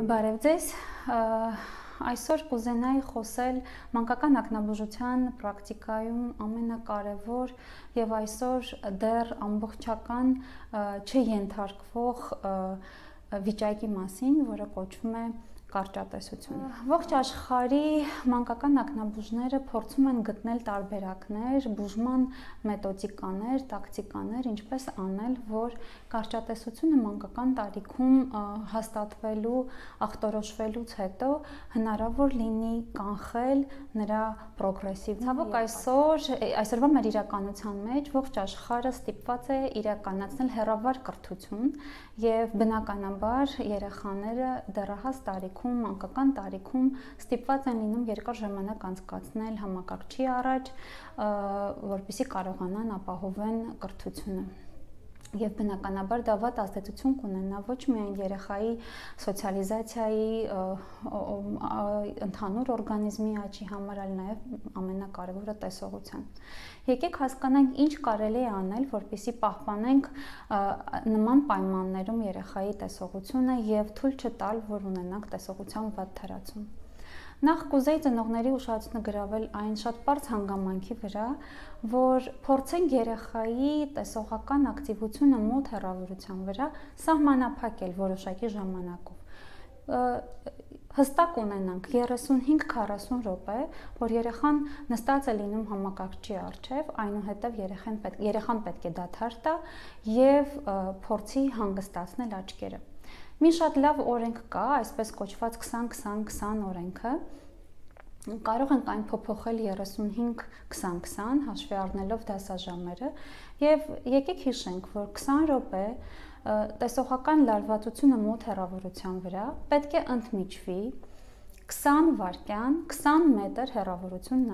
Բարև ձեզ, այսօր կուզենայի խոսել մանկական ակնաբուժության պրակտիկայում ամենակարևոր եւ այսօր դեռ ամբողջական չենթարկվող վիճակի մասին, որը կոչվում է կարճատեսություն։ Ողջ աշխարհի մանկական ակնաբուժները փորձում են գտնել տարբերակներ, բուժման մեթոդիկաներ, տակտիկաներ, ինչպես անել, որ կարճատեսությունը մանկական տարիքում հաստատվելու, ախտորոշվելուց հետո հնարավոր լինի կանխել նրա պրոգրեսիվ։ Ցավոք այսօրվա մեր իրականության մեջ ողջ աշխարհը ստիպված է իրականացնել հեռավար կրթություն եւ բնականաբար երեխաները դեռահաս տարիքում, մանկական տարիքում ստիպված են լինում երկար ժամանակ անցկացնել համակարգչի առաջ, որպեսզի կարողանան ապահովեն կրթությունը։ Եվ բնականաբար դա վատ ազդեցություն կունենա ոչ միայն երեխայի սոցիալիզացիայի, ընդհանուր օրգանիզմի աճի համար, այլ նաև ամենակարևորը տեսողության։ Եկեք հասկանանք, ինչ կարելի է անել, որպեսզի պահպանենք նման պայմաններում երեխայի տեսողությունը եւ թույլ չտալ, որ ունենանք տեսողության վատ թերացում։ Նախ կուզեի ծնողների ուշադրությունը գրավել այն շատ պարզ հանգամանքի վրա, որ փորձենք երեխայի տեսողական ակտիվությունը մոտ հեռավորության վրա սահմանափակել որոշակի ժամանակով։ Հստակ ունենանք 35-40 րոպե, որ երեխան նստած է լինում համակարգչի առջև, այնուհետև երեխան պետք է դադար տա եւ փորձի հանգստացնել աչքերը։ Մի շատ լավ օրենք կա, այսպես կոչված 20-20-20 օրենքը, կարող ենք այն փոփոխել 35-20-20 հաշվի առնելով դասաժամերը եւ եկեք հիշենք, որ 20 րոպե տեսողական լարվածությունը մոտ հեռավորության վրա պետք է ընդմիջվի 20 վայրկյան 20 մետր հեռավորություն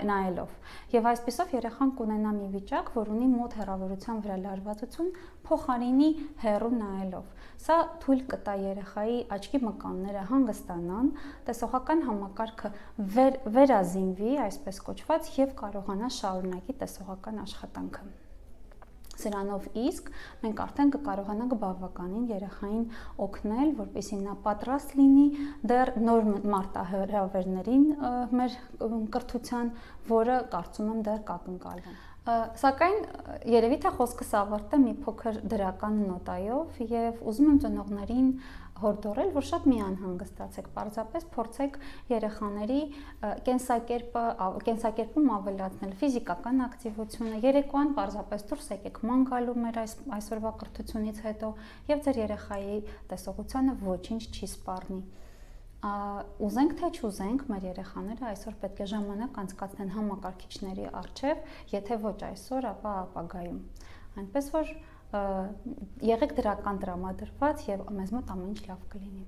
նայելով եւ այսպեսով երեխան կունենա մի վիճակ, որ ունի մոտ հեռավորության վրա լարվածություն փոխարինի հեռու նայելով։ Սա թույլ կտա երեխայի աչքի մկանները հանգստանան, տեսողական համակարգը վերազինվի, այսպես կոչված, եւ կարողանա շարունակի տեսողական աշխատանքը։ Սրանով իսկ մենք արդեն կկարողանանք բավականին երեխային օգնել, որպեսզի նա պատրաստ լինի դեռ նոր մարտահրավերներին մեր կրթության, որը կարծում եմ դեռ կակնկալվեն։ Սակայն երևի թե խոսքս ավարտեմ մի փոքր դրական նոտայով եւ ուզում եմ ծնողներին հորդորել, որ շատ մի անհանգստացեք, պարզապես փորձեք երեխաների կենսակերպում ավելացնել ֆիզիկական ակտիվությունը, երեկոյան պարզապես դուրս եկեք ման գալու մեր այսօրվա կրթությունից հետո եւ ձեր երեխայի տեսողությանը ոչինչ չի սպառնի։ Ուզենք թե չուզենք, մեր երեխաները այսօր պետք է ժամանակ անցկացնեն համակարգիչների առջև, եթե ոչ այսօր, ապա ապագայում։ Այնպես որ եղեք դրական տրամադրված եւ մեզ մոտ ամեն ինչ լավ կլինի։